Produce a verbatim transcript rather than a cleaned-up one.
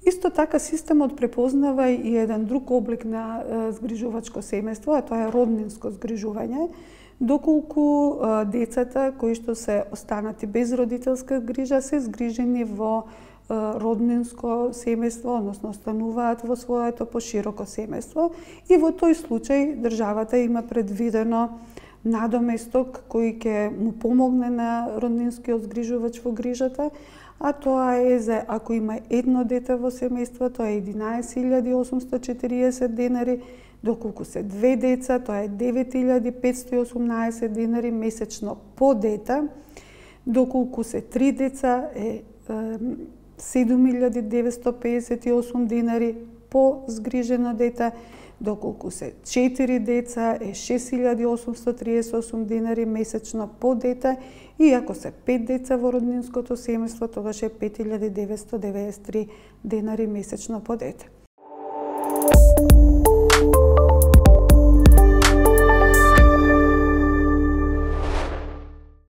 Исто така системот препознава и еден друг облик на згрижувачко семејство, а тоа е роднинско згрижување, доколку децата кои што се останати без родителска грижа се згрижени во роднинско семејство, односно остануваат во своето пошироко семејство, и во тој случај државата има предвидено надоместок кој ќе му помогне на роднинскиот згрижувач во грижата, а тоа е за ако има едно дете во семејство, тоа е единаесет илјади осумсто и четириесет денари, доколку се две деца, тоа е девет илјади петсто и осумнаесет денари месечно по дете, доколку се три деца е седум илјади деветсто педесет и осум денари по згрижено дете, доколку се четири деца е шест илјади осумсто триесет и осум денари месечно по дете, и ако се пет деца во роднинското семејство, тогаш е пет илјади деветсто деветдесет и три денари месечно по дете.